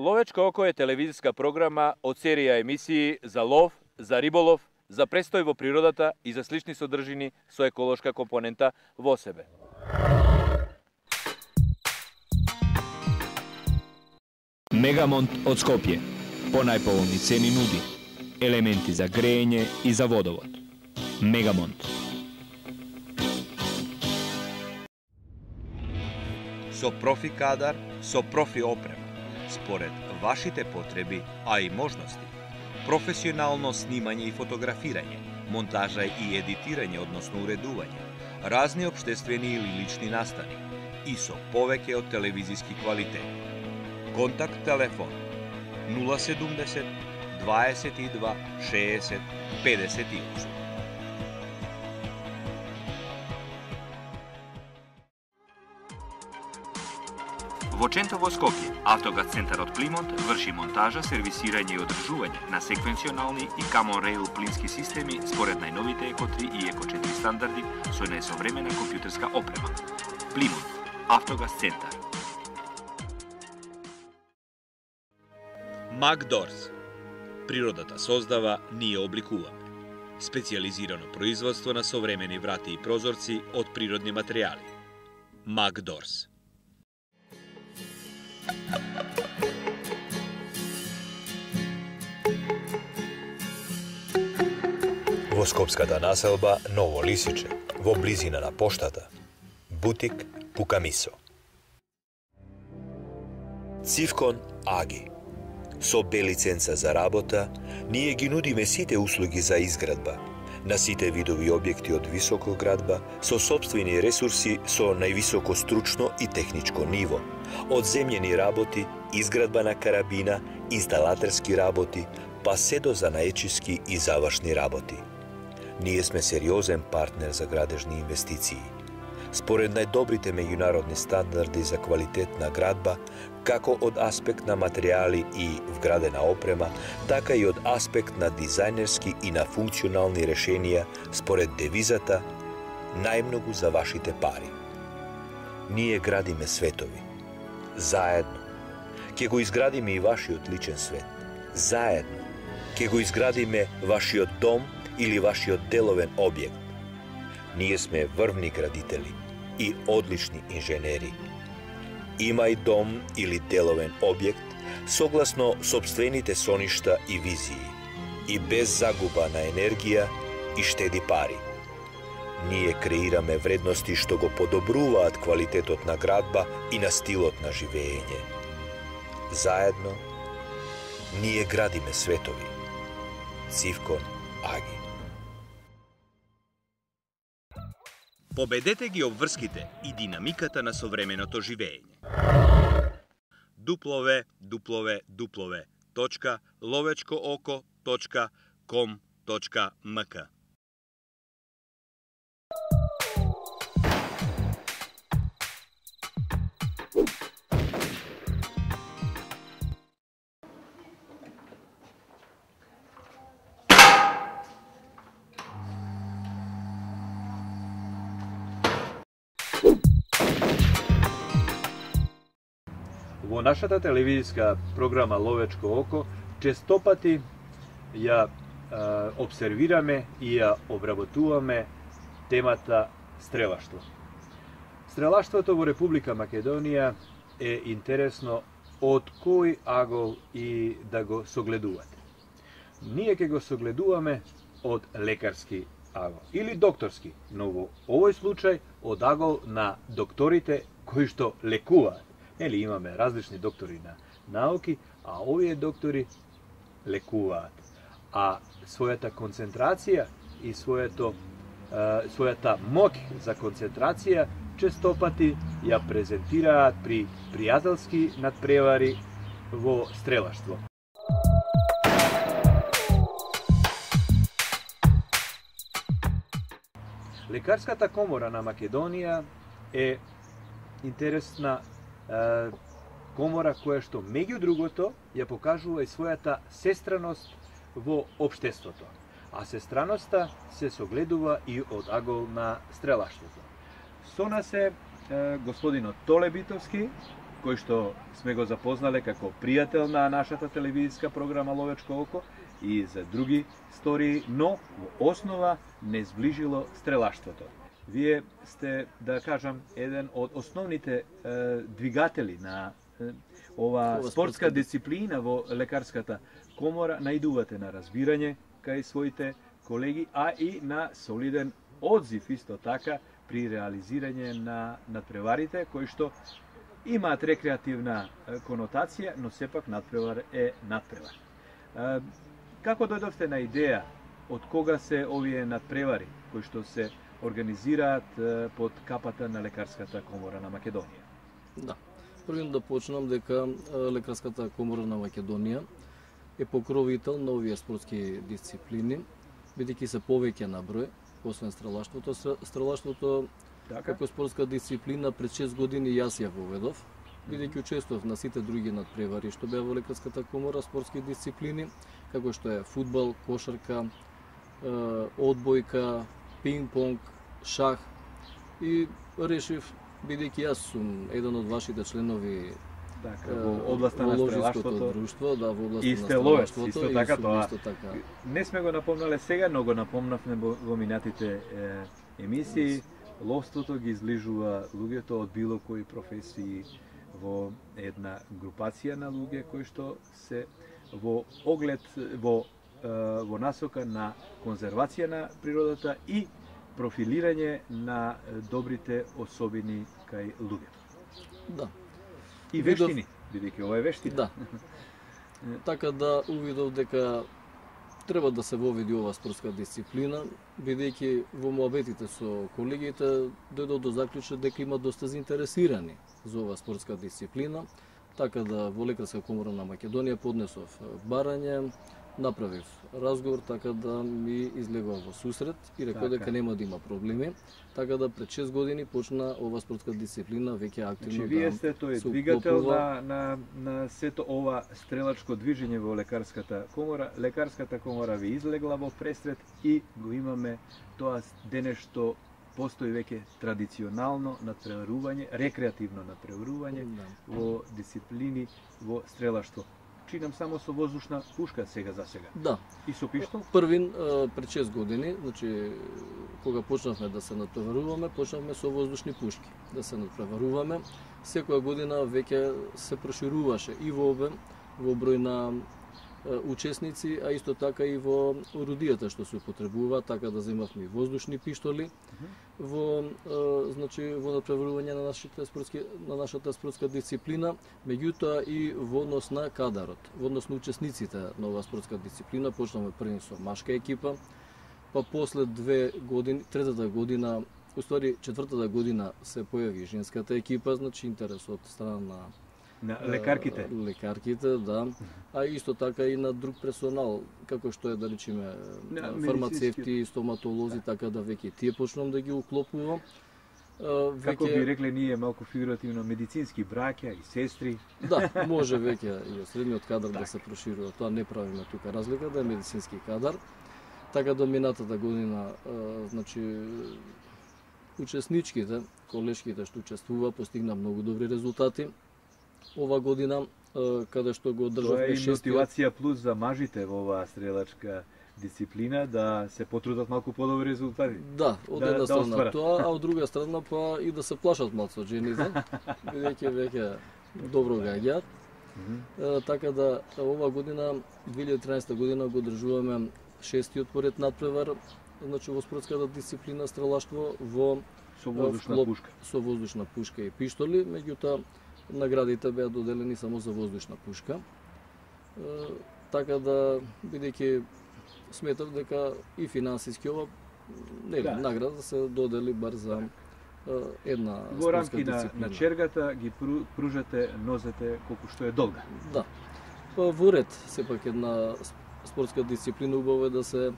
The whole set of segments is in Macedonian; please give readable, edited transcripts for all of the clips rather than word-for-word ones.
Ловечко око е телевизиска програма од серија емисии за лов, за риболов, за престој во природата и за слични содржини со еколошка компонента во себе. Мегамонт од Скопје. По најповолни цени нуди елементи за грејење и за водовод. Мегамонт. Со профи кадар, со профи опрема, според вашите потреби, а и можности. Професионално снимање и фотографирање, монтажа и едитирање, односно уредување, разни општествени или лични настани и со повеќе од телевизиски квалитет. Контакт телефон 070 22 60 58. Во Чентово, Скопје, Автогаз центарот Плимонт врши монтажа, сервисирање и одржување на секвенционални и Common Rail плински системи според најновите Еко 3 и Еко 4 стандарди со најсовремена компјутерска опрема. Плимонт, Автогаз центар. Макдорс. Природата создава, ние обликуваме. Специјализирано производство на современи врати и прозорци од природни материјали. Макдорс. Во скопската населба Ново Лисиче, во близина на поштата, бутик Пукамисо. Цивкон Аги. Со Б лиценца за работа, ние ги нудиме сите услуги за изградба, на сите видови објекти од високоградба, со сопствени ресурси со највисоко стручно и техничко ниво, од земјени работи, изградба на карабина, инсталатерски работи, па се до занаечиски и завршни работи. Ние сме сериозен партнер за градежни инвестиции. Според најдобрите меѓународни стандарди за квалитет на градба, како од аспект на материјали и вградена опрема, така и од аспект на дизајнерски и на функционални решенија според девизата најмногу за вашите пари. Ние градиме светови. Заедно. Ке го изградиме и вашиот личен свет. Заедно. Ке го изградиме вашиот дом или вашиот деловен објект. Ние сме врвни градители и одлични инженери. Имај дом или деловен објект согласно сопствените соништа и визии и без загуба на енергија и штеди пари. Ние креираме вредности што го подобруваат квалитетот на градба и на стилот на живеење. Заедно, ние градиме светови. Цивкон Аги. Победете ги обврските и динамиката на современото живеење. www.lovečkooko.com.mk. Во нашата телевизиска програма Ловечко око честопати ја обсервираме и ја обработуваме темата стрелаштво. Стрелаштвото во Република Македонија е интересно од кој агол и да го согледувате. Ние ќе го согледуваме од лекарски агол или докторски, но во овој случај од агол на докторите кои што лекуваат. Нели имаме различни доктори на науки, а овие доктори лекуваат. А својата концентрација и својата моќ за концентрација честопати ја презентираат при пријателски надпревари во стрелаштво. Лекарската комора на Македонија е интересна комора која што меѓу другото ја покажува и својата сестраност во општеството. А сестраноста се согледува и од агол на стрелаштвото. Со нас е господинот Толе Битовски, кој што сме го запознале како пријател на нашата телевизиска програма Ловечко око и за други истории, но во основа не зближило стрелаштвото. Вие сте, да кажам, еден од основните двигатели на ова спортска дисциплина во лекарската комора, наидувате на разбирање кај своите колеги, а и на солиден одзив исто така при реализирање на надпреварите кои што имаат рекреативна конотација, но сепак надпревар е надпревар. Како дојдовте на идеја од кога се овие надпревари кои што се организираат под капата на Лекарската комора на Македонија? Да. Првим да почнам дека Лекарската комора на Македонија е покровител на овие спортски дисциплини, бидејќи се повеќе на број, освен стрелаштвото. Стрелаштвото како спортска дисциплина пред 6 години јас ја воведов, бидејќи учествував на сите други надпревари што беа во Лекарската комора спортски дисциплини, како што е фудбал, кошарка, одбојка, пинг-понг, шах, и решив, бидејќи јас сум еден од вашите членови во областта на стрелаштвото друштво, да, во областта и на сте ловец, стрелаштвото, исто така тоа. така. Не сме го напомнале сега, но го напомнавме во минатите емисии. Ловството ги излижува луѓето од било кои професии во една групација на луѓе кои што се во оглед во насока на конзервација на природата и профилирање на добрите особини кај луѓето. Да. И вештини, бидејќи ова е вештина. Да. Така да увидов дека треба да се воведи ова спортска дисциплина, бидејќи во муабетите со колегите дојдов до заклучок дека има доста заинтересирани за ова спортска дисциплина, така да во Лекарска комора на Македонија поднесов барање, направив разговор, така да ми излегува во сусрет и рекол дека нема да има проблеми, така да пред 6 години почна ова спортска дисциплина веќе активно да се вие сте тој двигател на сето ова стрелачко движење во Лекарската комора. Лекарската комора ви излегла во пресрет и го имаме тоа денес што постои веќе традиционално надпреварување, рекреативно надпреварување во дисциплини во стрелаштво. Чинам само со воздушна пушка сега за сега. Да. И со пиштол? Првин пред 6 години, значи кога почнавме да се надпреваруваме, почнавме со воздушни пушки да се надпреваруваме. Секоја година веќе се прошируваше и во обем, во број на учесници, а исто така и во орудијата што се употребува, така да земавме воздушни пиштоли во надпреварување на нашата спортска дисциплина, меѓутоа и во однос на кадарот, во однос на учесниците на оваа спортска дисциплина. Почнавме први со машка екипа, па после 2 години, третата година, четвртата година се појави женската екипа, значи интерес од страна на лекарките. Лекарките, да. А исто така и на друг персонал, како што е, да речеме, фармацевти, стоматолози, така да веќе тие почнам да ги уклопувам. Како би рекле ние малку фигуративно, медицински браќа и сестри. Да, може веќе и од средниот кадар да се проширува. Тоа не правиме тука разлика, да е медицински кадар. Така до минатата година, значи, учесничките, колешките што учествува, постигна многу добри резултати. Ова година, каде што го одржавме шестиот... Тоа е мотивација плюс за мажите во оваа стрелачка дисциплина, да се потрудат малку подобри резултати. Да, од една страна тоа, а од друга страна па и да се плашат малку од жените, бидејќи веќе добро гаѓаат. Така да ова година, 2013 година, го одржуваме шестиот поред надпревар, значи во спортската дисциплина стрелаштво со воздушна пушка. Со воздушна пушка и пиштоли, меѓутоа наградите беа доделени само за воздушна пушка. Така да, бидејќи сметав дека и финансиски ова награда се додели бар за една во рамки на чергата ги пружате нозете колку што е долга. Да. Во ред, сепак една спортска дисциплина убаво е да се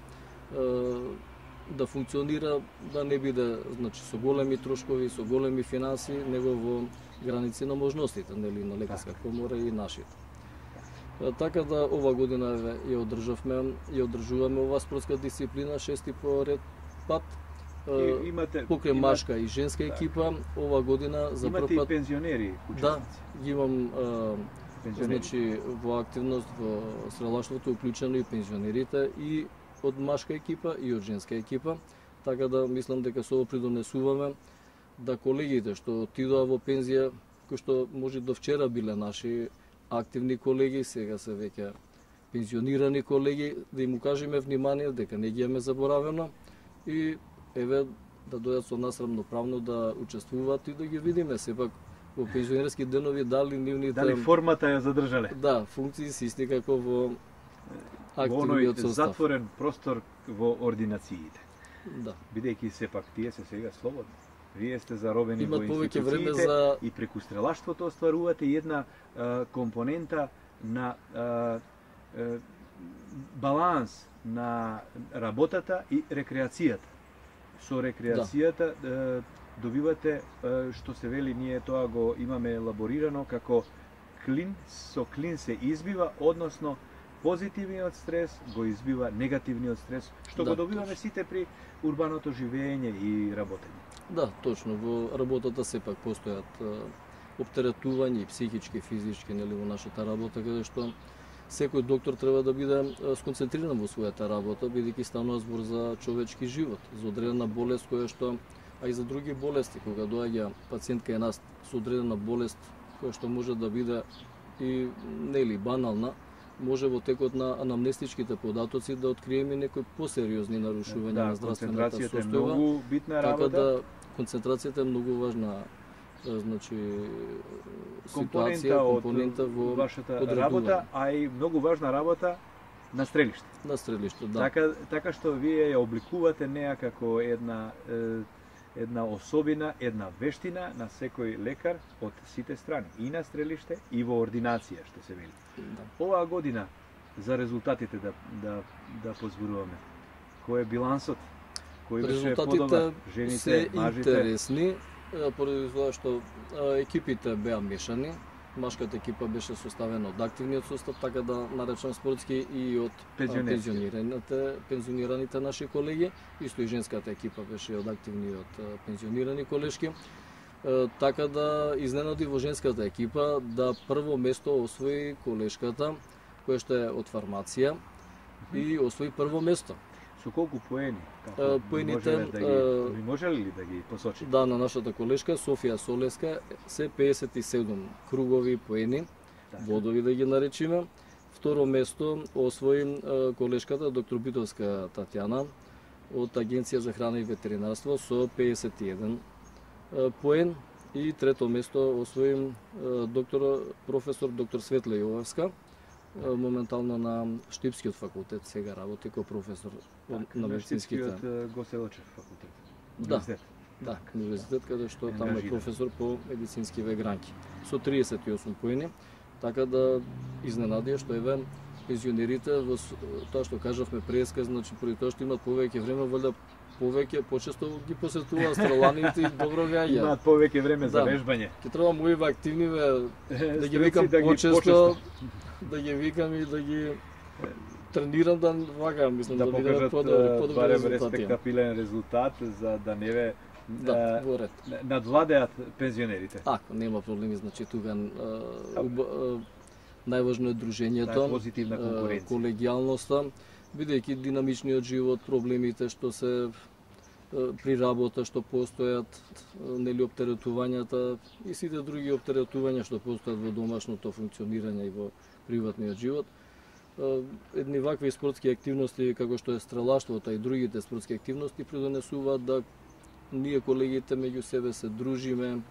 да функционира, да не биде, значи, со големи трошкови, со големи финанси, него во граници на можностите, нели, на Лекарска комора и нашите. Така да ова година ја одржуваме оваа спортска дисциплина шести поред пат покрај машка и женска екипа, ова година за прв пат... пат... Имате и пензионери учесници? Да, ги имам значи, во активност во стрелаштвото уклучено и пензионерите и од машка екипа и од женска екипа, така да мислам дека со ово придонесуваме да колегите што отидоа во пензија, кои што може до вчера биле наши активни колеги, сега се веќе пензионирани колеги, да им укажеме внимание дека не ги имаме заборавено и еве да дојдат со нас рамноправно да учествуваат и да ги видиме сепак во пензионерски денови дали нивните... Дали формата ја задржале? Да, функции се исти како во активниот состав. Затворен простор во ординациите. Да. Бидејќи сепак тие се сега слободни. Вие сте заробени Имат во институциите за... и преку стрелаштвото остварувате една компонента на баланс на работата и рекреацијата. Со рекреацијата добивате, што се вели, ние тоа го имаме елаборирано како клин, со клин се избива, односно позитивниот стрес го избива негативниот стрес, што го добиваме сите при урбаното живење и работење. Да, точно, во работата сепак постојат оптеретување и психички, физички, нели, во нашата работа, каде што секој доктор треба да биде сконцентриран во својата работа, бидејќи станува збор за човечки живот, за одредена болест која што, а и за други болести, кога доаѓа пациент кај нас со одредена болест која што може да биде и нели банална, може во текот на анамнестичките податоци да откриеме некои посериозни нарушувања на здравствената состојба. Концентрацијата е многу битна работа. Така да концентрацијата е многу важна, значи компонента во вашата работа, а и многу важна работа на стрелиште. На стрелиште, да. Така што вие ја обликувате неа како една особина, една вештина на секој лекар од сите страни, и на стрелиште, и во ординација, што се вели. Да. Оваа година, за резултатите да позборуваме, кој е билансот? Кој беше подобар? Жените, се мажите? Интересни, поради тоа што екипите беа мешани. Машката екипа беше составена од активниот состав, така да наречам спортски, и од пензионираните наши колеги. Исто и женската екипа беше од активни и од пензионирани колешки. Така да изненади во женската екипа да прво место освои колешката, која што е од фармација, и освои прво место. Со колку поени? Поените... Ви можеле ли да ги посочите? Да, на нашата колешка, Софија Солеска, се 57 кругови поени, бодови да ги наречиме. Второ место освои колешката доктор Битовска Татјана од Агенција за храна и ветеринарство со 51 поен. И трето место освои професор доктор Светла Јовевска, моментално на Штипскиот факултет, сега работи како професор на медицинските. На Штипскиот Госелочев факултет. Да, да, универзитет, каде што таму е професор по медицински вегранки. Со 38 поени, така да изненадија што еве пензионерите во тоа што кажавме преска, значи поради тоа што имаат повеќе време, валјда повеќе почесто ги посетуваат стреланите и добро веќе. Имаат повеќе време за вежбање. Ќе треба моиве активниве да ги викам почесто, да ги викам и да ги тренирам да вака, мислам да бидеме подобри резултати. Респектабилен резултат за да не ве надвладеат пензионерите. Ако нема проблеми, значи тука најважно е дружењето, позитивна конкуренција, колегијалноста, бидејќи динамичниот живот, проблемите што се при работа што постојат, нели оптеретувањата и сите други оптеретувања што постојат во домашното функционирање и во приватниот живот. Едни вакви спортски активности како што е стрелаштвото и другите спортски активности придонесуваат да ние колегите меѓу себе се дружиме,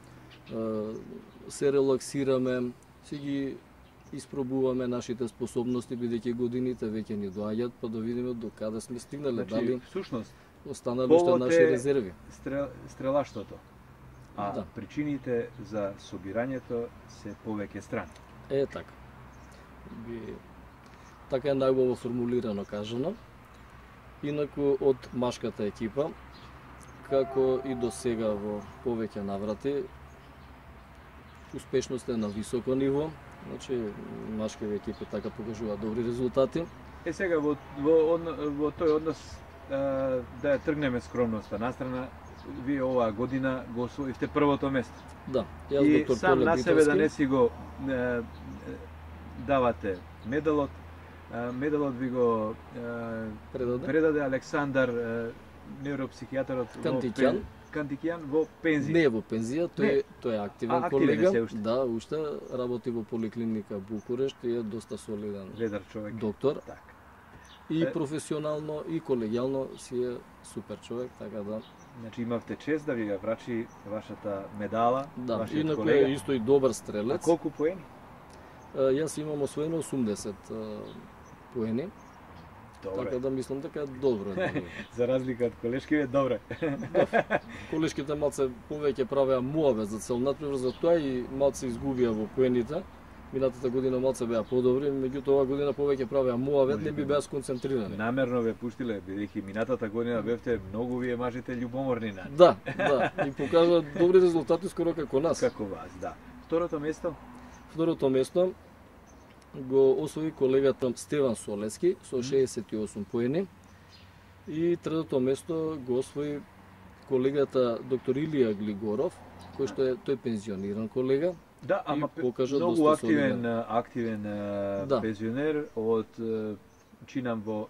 се релаксираме, си ги испробуваме нашите способности, бидејќи годините веќе ни доаѓаат, па да видиме до каде сме стигнале, значи, дали всушност останали уште наши резерви. Стрелаштвото, а причините за собирањето се повеќе страни. Е, така. Така е најубаво формулирано кажано. Инаку од машката екипа, како и до сега во повеќе наврати, успешност е на високо ниво, значи машките екипи така покажуваат добри резултати. Сега во тој однос да ја тргнеме скромноста настрана, вие оваа година го освоивте првото место. Да, јас И доктор сам Толе на себе да Битовски. не си го давате медалот, медалот ви го предаде Александар, невропсихијатарот Кантикјан во пензија. Не е во пензија, тој е активен колега. се уште. Да, уште работи во поликлиника Букурешт и е доста солиден Ведар човек. доктор. Така. И професионално и колегијално си е супер човек, така да. Значи имавте чест да ви ја врачи вашата медала, Да, вашиот инаку колега. е исто и добар А стрелец. колку поени? Јас имам освоено 80 поени, Добре. така да мислам дека е добро. За разлика од колешкиве, добре. Колешките малце повеќе правеа муавет за цел надпревар, за тоа и малце изгубија во поените. Минатата година малце беа подобри, меѓутоа оваа година повеќе правеа муавет, не би беа сконцентрирани. Намерно ве пуштиле, бидејќи минатата година бевте многу вие мажите љубоморни на нив. Да, и покажа добри резултати скоро како нас. Како вас, да. Второто место? Второто место го освои колегата Стеван Солески со 68 поени. И третото место го освои колегата доктор Илија Глигоров, кој што е тој пензиониран колега. Да, ама покажа многу доста активен Да. пензионер од чинам во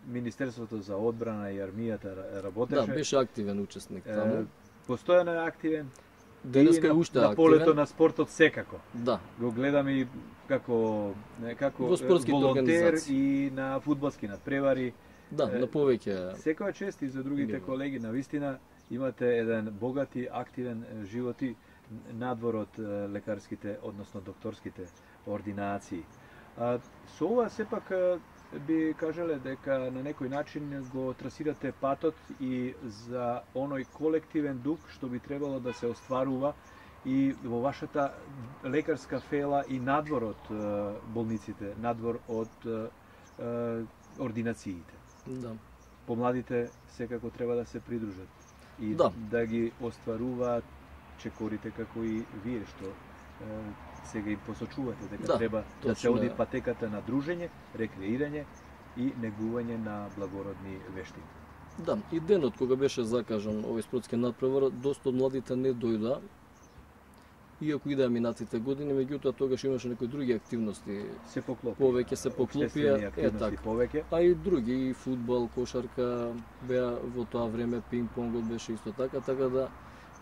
Министерството за одбрана и армијата работеше. Да, беше активен учесник таму. Постојано е активен. Денеска И е уште на полето активен. на спортот секако. Да, Го гледам и како Во спортските волонтер организации. и на фудбалски надпревари. да, на повеќе. Секоја чест и за другите Ниво. колеги, навистина имате еден богат и активен живот и надвор од лекарските, односно докторските ординации. Со ова сепак би кажале дека на некој начин го трасирате патот и за оној колективен дух што би требало да се остварува и во вашата лекарска фела и надвор од болниците, надвор од ординациите. Да. Помладите секако треба да се придружат и Да. ги остваруваат чекорите како и вие што сега им посочувате дека Да, треба да се точно оди е. патеката на дружење, рекреирање и негување на благородни вештини. Да, и денот кога беше закажан овој спортски надпревар, доста од младите не дојда. Иако идеа минатите години, меѓутоа тогаш имаше некои други активности. Се поклопи. Повеќе се поклопија, Општествени активности така. повеќе. А и други, и фудбал, кошарка, беа во тоа време, пинг-понгот беше исто така, така да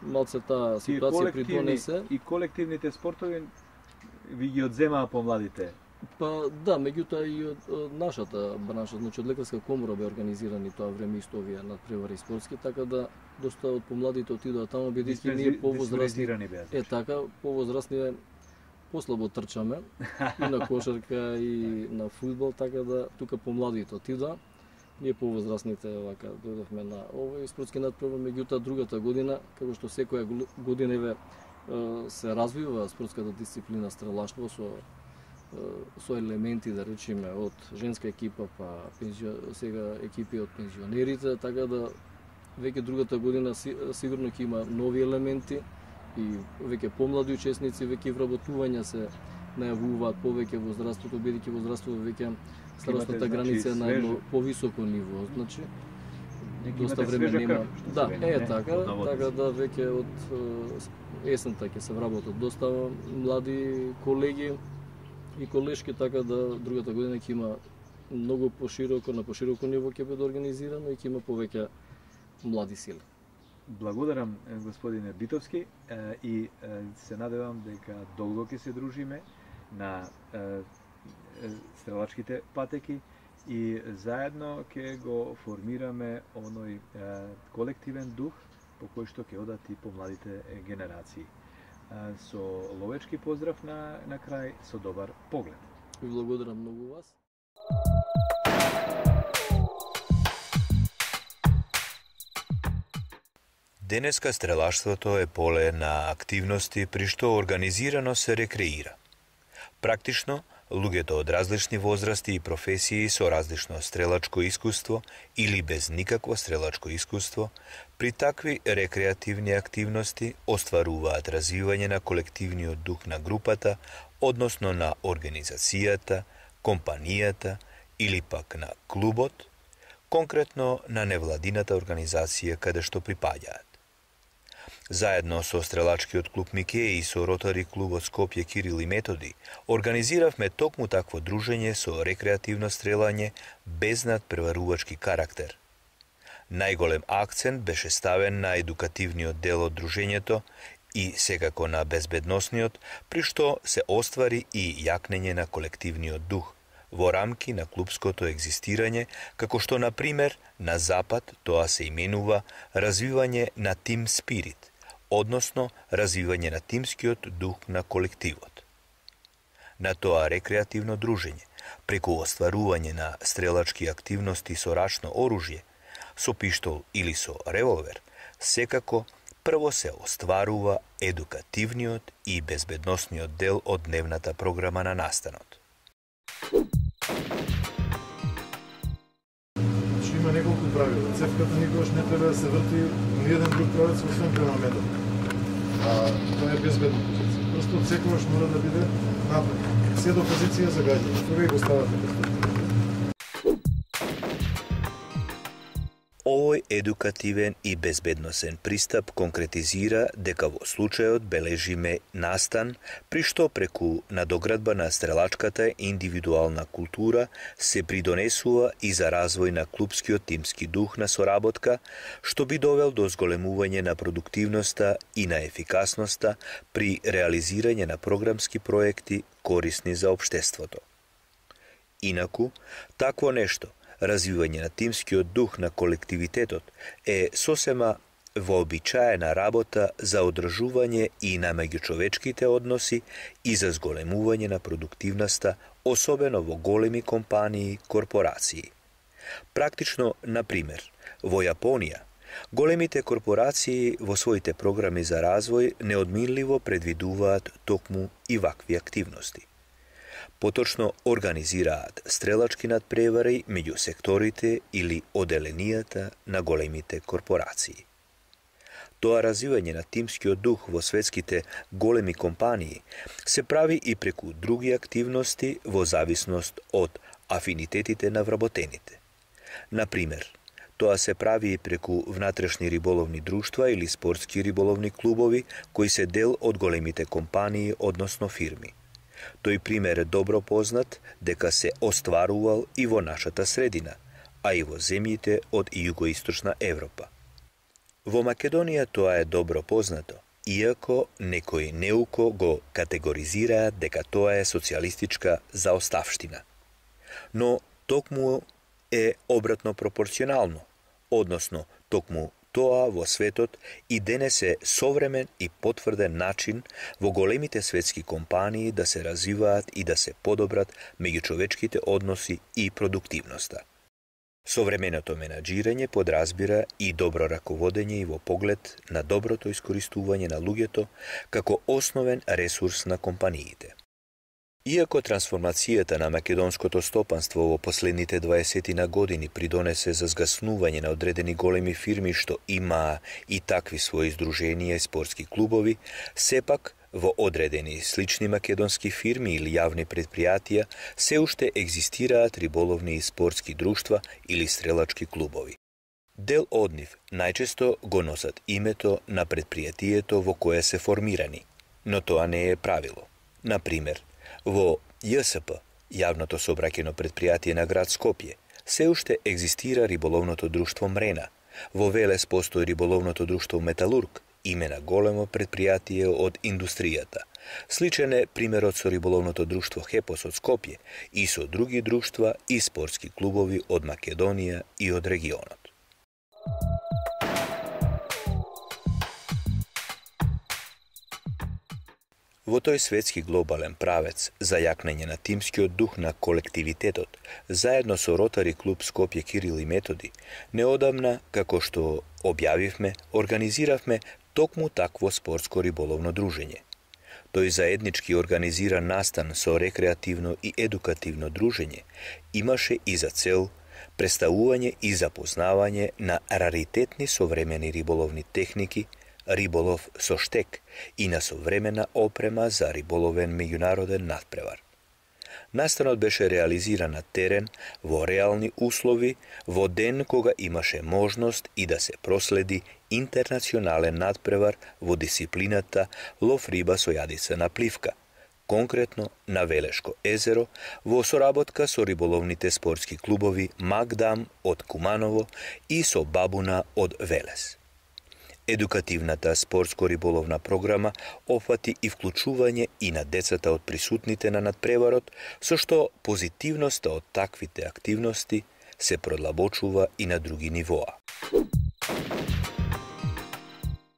малце таа Тие ситуација придонесе. и колективните спортови ви ги одземаа помладите. Па да, меѓутоа и од нашата бранша, значи од лекарска комора беа организирани тоа време исто овие надпревари спортски, така да доста од помладите отидоа таму бидејќи ние повозрастни. Диспензирани беа. Така, повозрастни послабо трчаме и на кошарка и на фудбал, така да тука помладите отидоа. Ние повозрастните вака дојдовме на овој спортски надпревар, меѓутоа другата година, како што секоја година се развива спортската дисциплина стрелаштво со елементи, да речеме, од женска екипа, па сега екипи од пензионерите, така да веќе другата година сигурно ќе има нови елементи и веќе помлади учесници, веќе вработувања се најавуваат повеќе во здравството, бидејќи во здравството веќе старосната граница е на едно повисоко ниво, значи доста време нема. Да, така да веќе од есента ќе се вработат доста млади колеги и колешки, така да другата година ќе има многу пошироко, на пошироко ниво ќе биде организирано и ќе има повеќе млади сили. Благодарам, господине Битовски, и се надевам дека долго ќе се дружиме на стрелачките патеки и заедно ќе го формираме оној колективен дух по кој што ќе одат и помладите генерации. Со ловечки поздрав на крај, со добар поглед. Ви благодарам многу вас. Денеска стрелаштвото е поле на активности при што организирано се рекреира. Практично, луѓето од различни возрасти и професии со различно стрелачко искуство или без никакво стрелачко искуство, при такви рекреативни активности остваруваат развивање на колективниот дух на групата, односно на организацијата, компанијата или пак на клубот, конкретно на невладината организација каде што припаѓаат. Заедно со стрелачкиот клуб Микеј и со ротари клубот Скопје Кирил и Методи организиравме токму такво дружење со рекреативно стрелање без надпреварувачки карактер. Најголем акцент беше ставен на едукативниот дел од дружењето и секако на безбедносниот, при што се оствари и јакнење на колективниот дух во рамки на клубското екзистирање, како што, на пример, на Запад тоа се именува развивање на тим спирит, односно развивање на тимскиот дух на колективот. На тоа рекреативно дружење, преку остварување на стрелачки активности со рачно оружје, со пиштол или со револвер, секако прво се остварува едукативниот и безбедносниот дел од дневната програма на настанот. Има неколку правила. Цевката никогаш не треба да се врти ни еден друг правец освен према медал. Тоа е безбедна позиција. Просто секогаш мора да биде напред. Се до позиција за гаѓање. Тоа го ставате перспектива. Овој едукативен и безбедносен пристап конкретизира дека во случајот бележиме настан, при што преку надоградба на стрелачката индивидуална култура се придонесува и за развој на клубскиот тимски дух на соработка, што би довел до зголемување на продуктивноста и на ефикасноста при реализирање на програмски проекти корисни за општеството. Инаку, такво нешто, развивање на тимскиот дух на колективитетот е сосема вообичаена работа за одржување и на меѓучовечките односи и за зголемување на продуктивноста, особено во големи компании, корпорации. Практично, на пример, во Јапонија, големите корпорации во своите програми за развој неодминливо предвидуваат токму и вакви активности. Поточно организираат стрелачки надпревари меѓу секторите или оделенијата на големите корпорации. Тоа развивање на тимскиот дух во светските големи компании се прави и преку други активности во зависност од афинитетите на вработените. Например, тоа се прави и преку внатрешни риболовни друштва или спортски риболовни клубови кои се дел од големите компании, односно фирми. Тој пример е добро познат дека се остварувал и во нашата средина, а и во земјите од југоисточна Европа. Во Македонија тоа е добро познато, иако некои неуко го категоризираат дека тоа е социјалистичка заоставштина. Но токму е обратно пропорционално, односно токму тоа во светот и денес е современ и потврден начин во големите светски компании да се развиваат и да се подобрат меѓучовечките односи и продуктивноста. Современото менаџирање подразбира и добро раководење и во поглед на доброто искористување на луѓето како основен ресурс на компаниите. Иако трансформацијата на македонското стопанство во последните 20 години придонесе за згаснување на одредени големи фирми што имаа и такви своји здруженија и спортски клубови, сепак во одредени слични македонски фирми или јавни предпријатија се уште екзистираат риболовни и спортски друштва или стрелачки клубови. Дел од нив најчесто го носат името на предпријатието во кое се формирани, но тоа не е правило. Например, во ЈСП, јавното сообраќајно предпријатие на град Скопје, се уште екзистира риболовното друштво Мрена. Во Велес постои риболовното друштво Металург, име на големо предпријатие од индустријата. Сличен е примерот со риболовното друштво Хепос од Скопје и со други друштва и спортски клубови од Македонија и од регионот. Во тој светски глобален правец за јакнење на тимскиот дух на колективитетот, заедно со ротари клуб Скопје Кирил и Методи, неодамна, како што објавивме, организиравме токму такво спортско риболовно дружење. Тој заеднички организиран настан со рекреативно и едукативно дружење имаше и за цел представување и запознавање на раритетни современи риболовни техники, риболов со штек и на современа опрема за риболовен меѓународен надпревар. Настанот беше реализиран на терен, во реални услови, во ден кога имаше можност и да се проследи интернационален надпревар во дисциплината лов риба со јадица на пливка, конкретно на Велешко езеро, во соработка со риболовните спортски клубови Магдам од Куманово и со Бабуна од Велес. Едукативната спортско-риболовна програма опфати и вклучување и на децата од присутните на надпреварот, со што позитивноста од таквите активности се продлабочува и на други нивоа.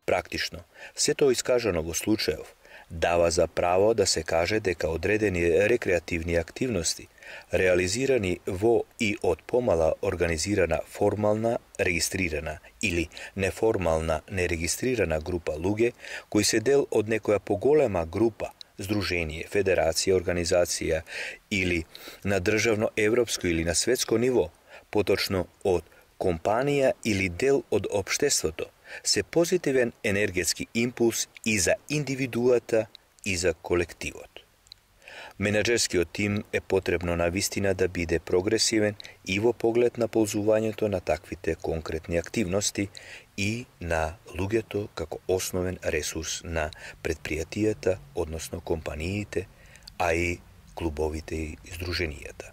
Практично, сето искажано во случајов дава за право да се каже дека одредени рекреативни активности, реализирани во и од помала организирана формална, регистрирана или неформална, нерегистрирана група луѓе, кои се дел од некоја поголема група, здружение, федерација, организација или на државно, европско или на светско ниво, поточно од компанија или дел од општеството, се позитивен енергетски импулс и за индивидуата и за колективот. Менаџерскиот тим е потребно навистина да биде прогресивен и во поглед на ползувањето на таквите конкретни активности и на луѓето како основен ресурс на предпријатијата, односно компаниите, а и клубовите и здруженијата.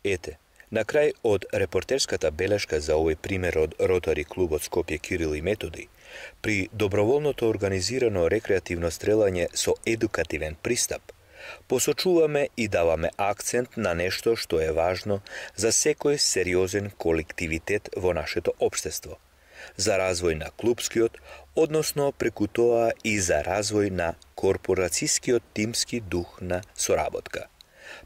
Ете, на крај од репортерската белешка за овој пример од Ротари клубот Скопје Кирил и Методи, при доброволното организирано рекреативно стрелање со едукативен пристап, посочуваме и даваме акцент на нешто што е важно за секој сериозен колективитет во нашето општество, за развој на клубскиот, односно преку тоа и за развој на корпорацијскиот тимски дух на соработка.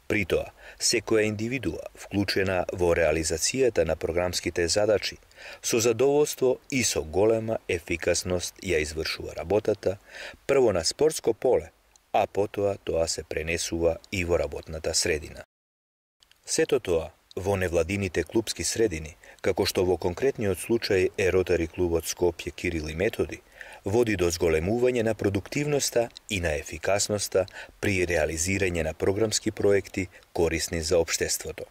При тоа, секоја индивидуа, вклучена во реализацијата на програмските задачи, со задоволство и со голема ефикасност ја извршува работата, прво на спортско поле, а потоа тоа се пренесува и во работната средина. Сето тоа во невладините клубски средини, како што во конкретниот случај е Ротари клубот Скопје Кирил и Методи, води до зголемување на продуктивноста и на ефикасноста при реализирање на програмски проекти корисни за општеството.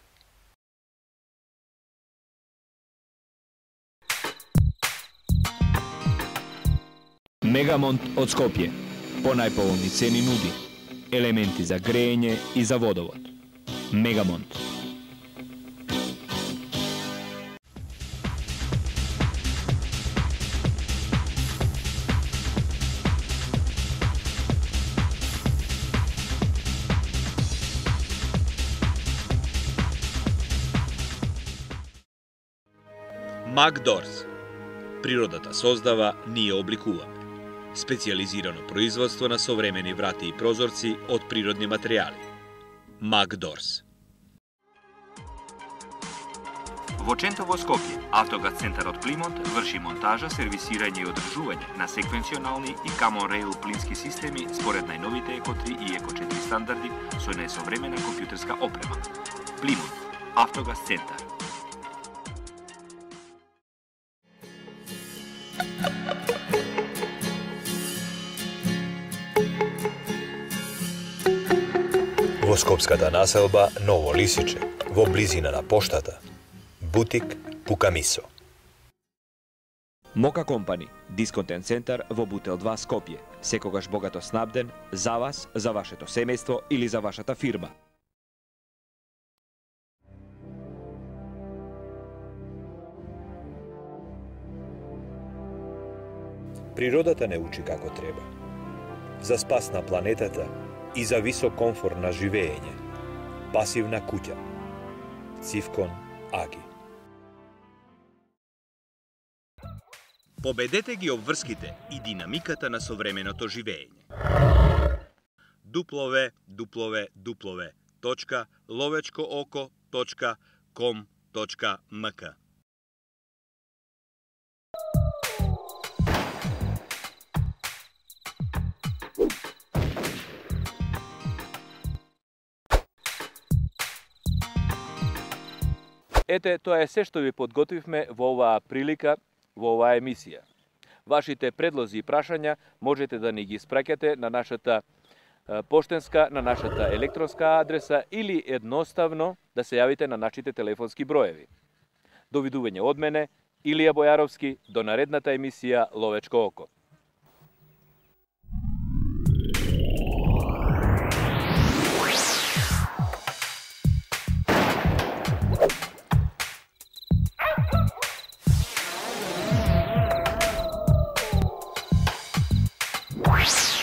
Мегамонт од Скопје. По најповолни цени нуди елементи за грејење и за водовод. Мегамонт. Макдорс. Природата создава, ние обликуваме. Специјализирано производство на современи врати и прозорци од природни материјали. Макдорс. Во Чентово Скопје, Автогаз центарот Плимонт врши монтажа, сервисирање и одржување на секвенционални и Common Rail плински системи според најновите Еко 3 и Еко 4 стандарди со најсовремена компјутерска опрема. Плимонт, Автогаз центар. Во скопската населба Ново Лисиче, во близина на поштата, бутик Пукамисо. Мока Компани, дисконтен центар во Бутел 2 Скопје, секогаш богато снабден за вас, за вашето семејство или за вашата фирма. Природата не учи како треба. За спас на планетата и за висок комфорт на живење. Пасивна куќа. Цивкон Аги. Победете ги обврските и динамиката на современото живење. www.lovečkooko.com.mk Ете, тоа е се што ви подготвивме во оваа прилика, во оваа емисија. Вашите предлози и прашања можете да ни ги испраќате на нашата поштенска на нашата електронска адреса или едноставно да се јавите на нашите телефонски броеви. Довидување од мене, Илија Бојаровски, до наредната емисија Ловечко око. What?